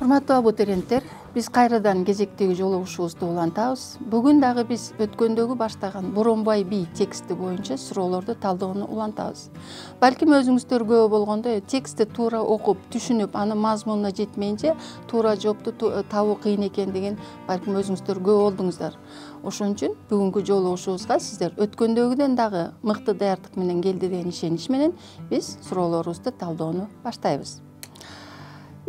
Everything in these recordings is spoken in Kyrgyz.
Урматтуу абутуриенттер, биз кайрадан кезектеги жолугушуубузду улантабыз. Бүгүн дагы биз өткөндөгү баштаган Боронбай би тексти боюнча суроолорду талдоону улантабыз. Балким өзүңүздөр көп болгондо текстти туура окуп, түшүнүп, анын мазмунуна жетмейинче туура жоопту табуу кыйын экендигин балким өзүңүздөр көп болдуңуздар. Ошон үчүн бүгүнкү жолугушуубузга сиздер өткөндөгүдөн дагы мыкты даярдык менен келди деген ишенич менен биз суроолорубузду талдоону баштайбыз.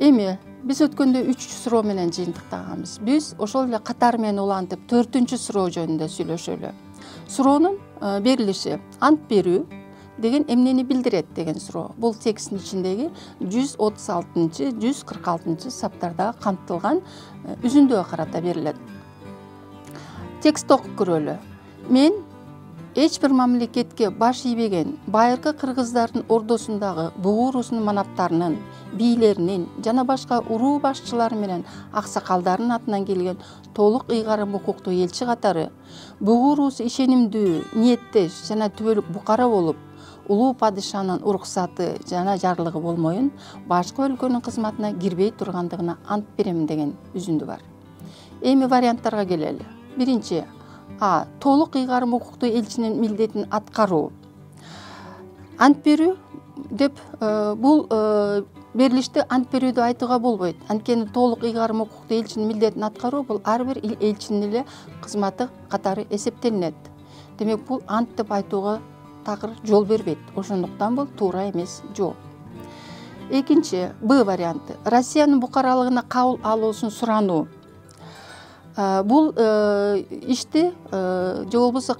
Эми биз өткөндө 3 суроо менен жыйынтыктаганбыз. Биз ошол эле катар менен улантып 4-чү суроо жөнүндө сүйлөшөлү. Суроонун берилиши ант берүү деген эмнени билдирет деген суроо. Бул тексттин ичиндеги 136-146 саптарда камтылган үзүндүгө карата берилет. Текстти окуп көрөлү. Мен эч бир мамлекетке баш ийбеген байыркы кыргыздардын ордосундагы бугу уруусунун манаптарынын, бийлеринин жана башка уруу башчылары менен аксакалдардын атынан келген толук ыйгарым укуктуу элчи катары бугу уруусу ишенимдүү, ниеттеш жана түбөлүк букара болуп, улуу падышанын уруксаты жана жарлыгы болмоюн башка өлкөнүн кызматына кирбей тургандыгына ант берем деген үзүндү бар. Эми варианттарга келели. Биринчи А. Толук ыйгарым укуктуу элчинин милдетин аткаруу. Ант берүү деп бул берилиште ант берүүдү айтууга болбойт. Анткени толук ыйгарым укуктуу элчинин милдетин аткаруу бул ар бир элчинин эле кызматы катары эсептелинет. Демек бул ант деп айтууга такыр жол бербейт. Ошондуктан бул туура эмес жооп. Экинчи Б варианты. Россиянын букаралыгына кабыл алуусун сурануу. Бул ишти же болбосо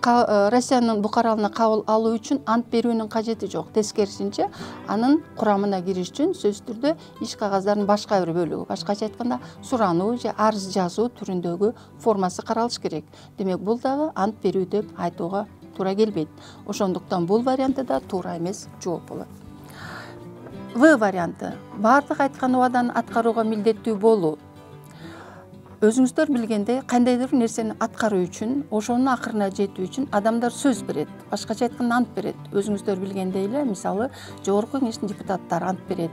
Россиянын букаралыгына кабыл алуу үчүн ант берүүнүн кажети жок. Тескерисинче, анын курамына кириш үчүн сөзсүз түрдө иш кагаздарынын башка бир бөлүгү, башкача айтканда сурануу же арыз жазуу түрүндөгү формасы каралыш керек. Демек бул дагы ант берүү деп айтууга туура келбейт. Ошондуктан бул варианты да туура эмес жооп болот. В варианты. Бардык айткан убаданы аткарууга милдеттүү болуу. Өзүңүздөр билгендей, кандайдыр нерсени аткаруу үчүн, ошонун акырына жетүү үчүн адамдар сөз берет. Башкача айтканда ант берет. Өзүңүздөр билгендей эле, мисалы, жогорку кеңештин депутаттары ант берет.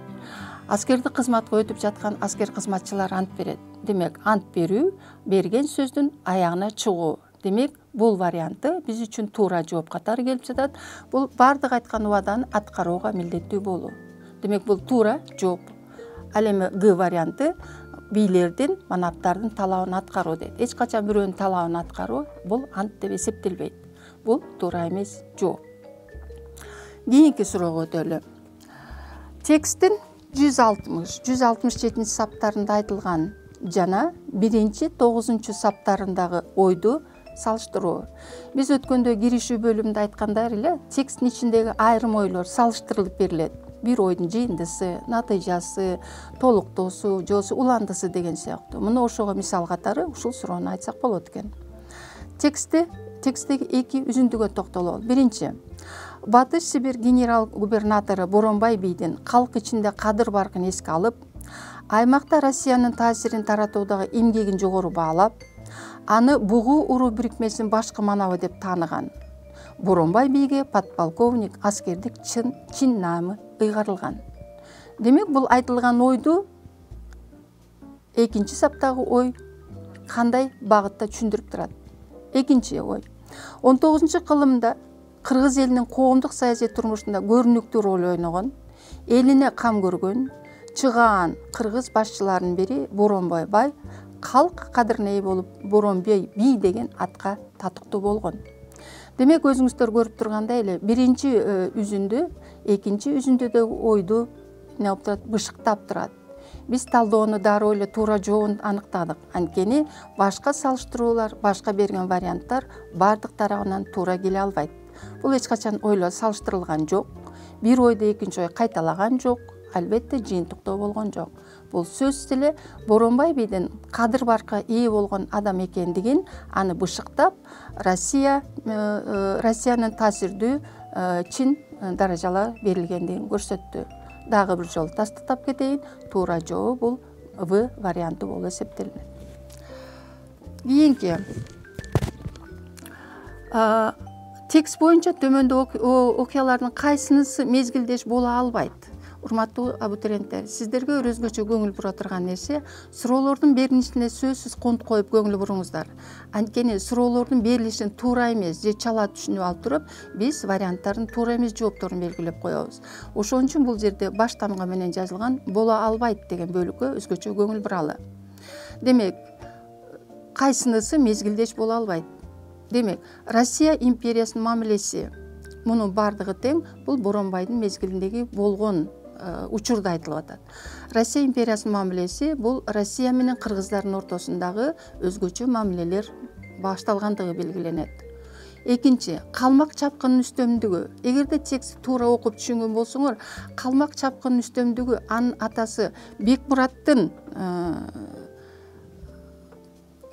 Аскердик кызматка өтүп жаткан аскер кызматчылар ант берет. Демек, ант берүү берген сөздүн аягына чыгуу. Демек, бул варианты биз үчүн туура жооп катары келип жатат. Бул бардык айткан убаданы аткарууга милдеттүү болуу. Демек, бул туура жооп. Ал эми Г варианты бийлердин, манаптардын талабын аткаруу дейт. Эч качан бирөөнүн талабын аткаруу бул ант деп эсептелбейт. Бул туура эмес жооп. Кийинки суроого өтөлү. Тексттин 160-167 саптарында айтылган жана 1-9 саптарындагы ойду салыштыруу. Биз өткөндө киришүү бөлүмүндө айткандай эле, тексттин ичиндеги айрым ойлор салыштырылып берилет. Бир ойдун жыйындысы, натыйжасы, толуктоосу, жосу уландысы деген сыяктуу. Муну ошого мисал катары ушул суроону айтсак болот экен. Тексттеги 2 үзүндүгө токтололу. Биринчи. Батыш Сибирь генерал-губернатору Боронбай бийдин калк ичинде кадыр баркын эске алып, аймакта Россиянын таасирин таратуудагы эмгегин жогору баалап, аны бугу уруу бирикмесинин башкы манабы деп тааныган. Боронбай бийге подполковник аскердик чин наамы ыйгарылган. Демек, бул айтылган ойду экинчи саптагы ой кандай багытта түшүндүрүп турат? Экинчи ой. 19-кылымда кыргыз элинин коомдук саясий турмушунда көрүнүктүү роль ойногон, элине кам көргөн, чыгаан кыргыз башчыларынын бири Боронбай бай калк кадырына ээ болуп, Боронбай би деген атка татыктуу болгон. Демек, өзүңүздөр көрүп тургандай эле, биринчи үзүндү, экинчи үзүндүдөгү ойду бышыктап турат. Биз талдоону дароо эле туура жообун аныктадык. Анткени башка салыштыруулар, башка берген варианттар бардык тарабынан туура келе албайт. Бул эч качан ойлор салыштырылган жок. Бир ойду экинчи ой кайталаган жок. Албетте жыйынтыктоо болгон жок. Бул сөзсүз эле Боронбай бийдин кадыр баркка ээ болгон адам экендигин аны бышыктап, Россиянын таасирдүү чин даражалар берилгендигин көрсөттү. Дагы бир жолу тастыктап кетейин, туура жообу бул В варианты болуп эсептелинет. Кийинки текст боюнча төмөндө окуялардын кайсынысы мезгилдеш боло албайт? Урматтуу абитуриенттер, сиздерге өзгөчө көңүл бура турган нерсе суроолордун берилишине сөзсүз конт коюп көңүл буруңуздар. Анткени суроолордун берилишин туура эмес же чала түшүнүп алып туруп, биз варианттарын туура эмес жоопторун белгилеп коебуз. Ошон үчүн бул жерде баш тамга менен жазылган боло албайт деген бөлүккө өзгөчө көңүл буралы. Демек, кайсынысы мезгилдеш боло албайт? Демек, Россия империясынын мамилеси мунун бардыгы тең бул Боронбайдын мезгилиндеги болгон учурда айтылып атат. Россия империясынын мамилеси бул Россия менен кыргыздардын ортосундагы өзгөчө мамилелер башталгандыгы белгиленет. Экинчи, калмак чапкынын үстөмдүгү. Эгерде текстти туура окуп түшүнгөн болсоңор, калмак чапкынын үстөмдүгү анын атасы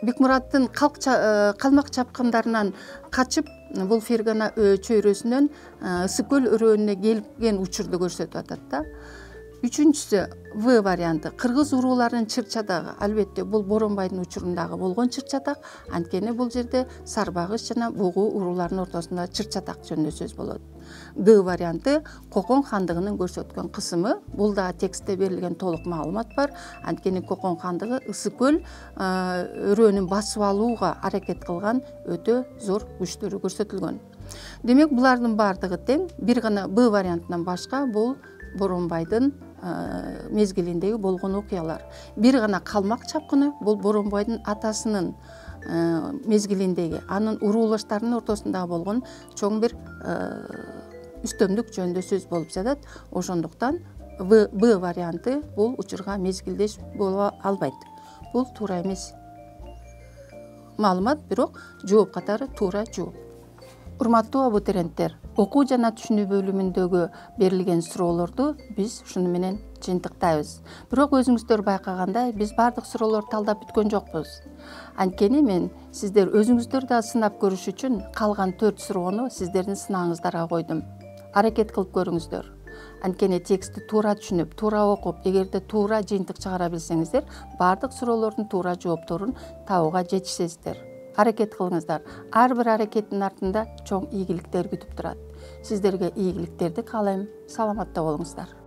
Бекмураттын калмак чапкындарынан качып бул Фергана чөйрөсүнөн Ысык көл өрөөнүнө келген учурду көрсөтүп атат да. Үчүнчүсү В варианты. Кыргыз урууларынын чыр-чадагы. Албетте бул Боронбайдын учурундагы болгон чыр-чатак, анткени бул жерде Сарбагыш жана Бугу урууларынын ортосунда чыр-чатак жөнүндө сөз болот. Г варианты. Кокон хандыгынын көрсөткөн кысымы. Бул да текстте берилген толук маалымат бар. Анткени Кокон хандыгы Ысык көл өрөөнүн басып алууга аракет кылган өтө зор күчтөрү көрсөтүлгөн. Демек, булардын бардыгы тең. Бир гана Б вариантынан башка бул Боронбайдын мезгилиндеги болгон окуялар. Бир гана калмак чапкыны бул Боронбайдын атасынын мезгилиндеги, анын уруулаштарынын ортосунда болгон чоң бир үстөмдүк жөнүндө сөз болуп жатат. Ошондуктан Б варианты бул учурга мезгилдеш боло албайт. Бул туура эмес маалымат, бирок жооп катары туура жооп. Урматтуу абитуриенттер, окуу жана түшүнүү бөлүмүндөгү берилген суроолорду биз ушуну менен жыйынтыктайбыз. Бирок өзүңүздөр байкагандай, биз бардык суроолорду талдап бүткөн жокпуз. Анткени мен сиздер өзүңүздөр да сынап көрүш үчүн калган 4 суроону сиздердин сынагыңыздарга койдум. Аракет кылып көрүңүздөр. Анткени текстти туура түшүнүп, туура окуп, эгерде туура жыйынтык чыгара билсеңиздер, бардык суроолордун туура жоопторун табууга жетишесиздер. Аракет кылыңыздар. Ар бир аракеттин артында чоң ийгиликтер күтүп турат. Сиздерге ийгиликтерди каалайм. Саламатта болуңуздар.